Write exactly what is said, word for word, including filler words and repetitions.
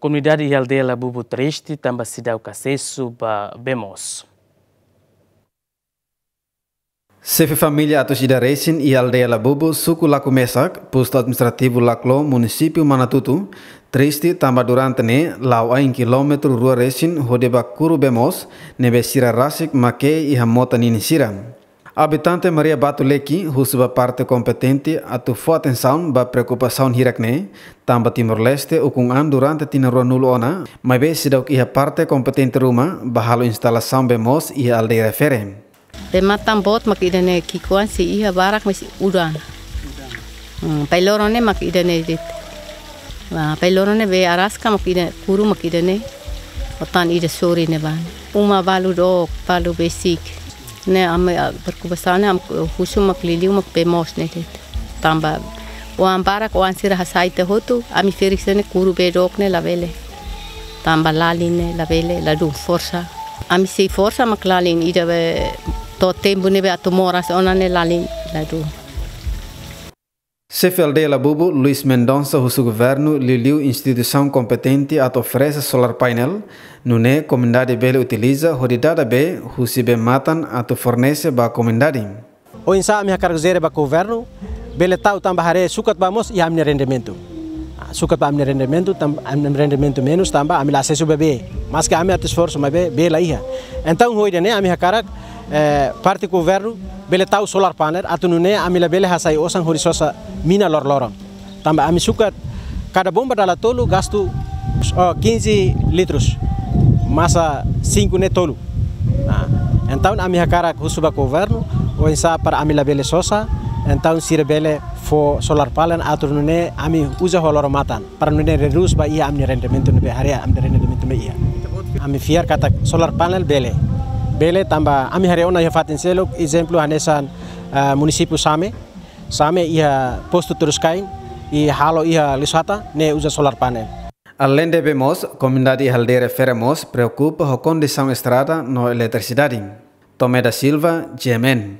Komunidade iha aldeia Labubu triste tanba seidauk asesu ba bee moos. Xefe família atus ida resin iha aldeia Labubu, suku Lakumesak, postu administrativu Laklo, munisípiu Manatutu, triste tanba durante ne'e la'o ain kilómetru rua resin hodi bá kuru bee moos, ne'ebé sira rasik mak ke'e iha mota ninin sira. Abitante Maria Batu Leki husu ba parte kompetente atu fó atensaun ba preokupasaun hirak ne'e, tanba Timor-Leste ukun an durante tinan ruanulu ona, maibé seidauk iha parte kompetente ruma ba halo instalasaun bee moos iha aldeia refere. Bee matan boot mak ida-ne'e, ki'ikoan sei iha, barak maibé udan. Hmm, pai loron ne'e mak ida-ne'e de'it. Wah, pai loron ne'e bee araska mak ida, kuru mak ida-ne'e. Ho tan ida sorin ne'ebá. Uma balu dook, balu besik. Ne'e ami, ah, preokupasaun ne'e ami husu mak liuliu mak bee moos ne'e de'it. Tanba oan barak, oan sira hasai tiha hotu, ami ferik sira-ne'e kuru bee dook ne'e labele. Tanba lalin ne'e labele, ladún forsa. Ami sei forsa mak lalin, ida bee to'o tempu ne'ebé atu moras ona ne'e lalin, ladún. Xefe aldeia Labubu, Luis Mendonça, husu governu liuliu instituisaun kompetente atu oferese solar painel, nune'e komunidade bele utiliza hodi dada bee husi bee matan atu fornese ba komunidade. Oinsá ami hakarak jere ba governu, bele tau tanba haree sukat ba moos iha ami-nia rendimentu. Ah, sukat ba ami-nia rendimentu, tanba ami-nia rendimentu menus tanba ami la asesu ba bee. Maski ami atu esforsu maibé bee la iha. Entaun ho ida-ne'e ami hakarak, eh, parte governu bele tau solar panel atu nune'e ami labele hasai osan hodi sosa mina loroloron. Tanba ami sukat kada bomba dala tolu gastu, oh, quinze litros. Masa cinco ne'e tolu. Nah, entaun ami hakarak husu ba governu, oinsá para ami labele sosa, entaun sira bele fó solar panel atu nune'e ami uza ho loron matan, para nune'e redús ba iha ami-nia rendimentu ne'ebé haree ami-nia rendimentu ne'ebé iha. Ami fiar katak solar panel bele. Bele tanba ami haree ona iha fatin seluk, ezemplu hanesan, eh, munisípiu Same. Same iha postu Terus Kain, i halo iha Lisata, ne'e uza solar panel. Aleinde bee moos, komunidade iha aldeia refere mós preokupa ho kondisaun estrada no eletrisidade. Tomé da Silva, G M N.